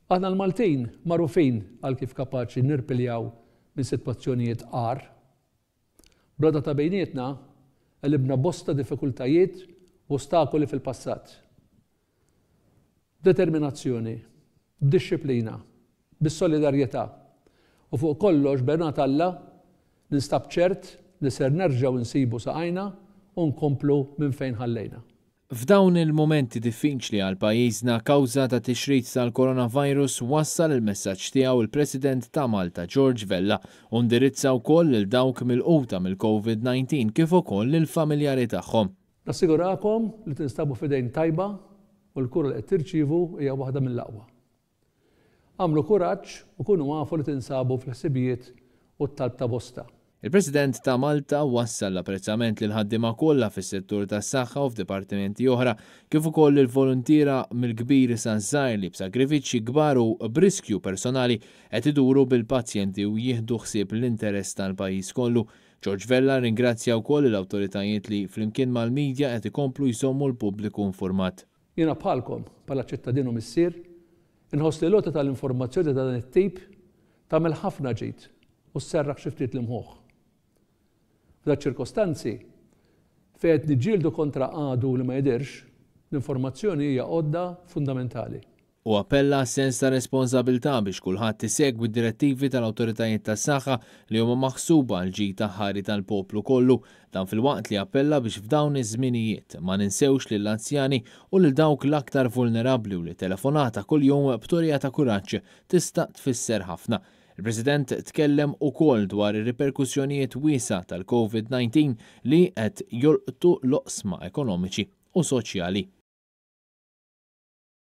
Aħna l-Maltin magħrufin għal kif kapaċi nirpiljaw minn sitwazzjonijiet agħar. Bl-għodda ta' bejnietna għelibna bosta diffikultajiet u ostakoli fil-passat. B'determinazzjoni, b'dixxiplina, bis-solidarjetà u fuq kollox b'għenuna t'Alla ninstab ċert li ser nerġgħu nsibu saqajna u nkomplu minn fejn ħallejna. F'dawn il-mumenti diffiċli għal pajjiżna kawża ta' tixrid tal-coronavirus wassal il-messaġġ tiegħu il-President ta' Malta George Vella u ndirizza wkoll lil dawk milquta mill-COVID-19 kif ukoll lill-familjari tagħhom. Nassigurakom li tinstabu f'idejn tajba u l-kura li qed tirċievu hija waħda mill-aqwa. Agħmlu kuraġġ u kunu afu li tinsabu fil-ħsibijiet u t-talb ta' bosta. Il-President ta' Malta wassal l-apprezzament lill-ħaddiema kollha fis-settur tas-saħħa u f'dipartimenti oħra, kif ukoll lill-voluntiera mill-kbir saż-żgħir li b'sagrifiċċji kbar u b'riskju personali qed iduru bil-pazjenti u jieħdu ħsieb l-interess tal-pajjiż kollu. George Vella rringrazzja wkoll lill-awtoritajiet li flimkien mal-media qed ikomplu jżommu l-pubbliku infurmat. Jiena bħalkom, bħala ċittadin u missier, inħoss li l-għoti tal-informazzjoni ta' dan it-tip tagħmel ħafna ġid u sserraħ xi ftit l-imħuħ. F'daċ-ċirkostanzi, fejn qed niġġieldu kontra għadu li ma jidhirx, l-informazzjoni hija għodda fundamentali. Hu appella għas-sens ta' responsabilità biex kulħadd isegwi d-direttivi tal-awtoritajiet tas-saħħa li huma maħsuba għall-ġid aħħari tal-poplu kollu. Dan filwaqt li appella biex f'dawn iż-żminijiet ma ninsewx lill-anzjani u lil dawk l-aktar vulnerabbli u li telefonata kuljum b'turija ta' kuraġġ tista' tfisser ħafna. Il-President tkellem ukoll dwar ir-riperkussjonijiet wiesgħa tal-Covid-19 li qed jolqtu l-oqsma ekonomiċi u soċjali.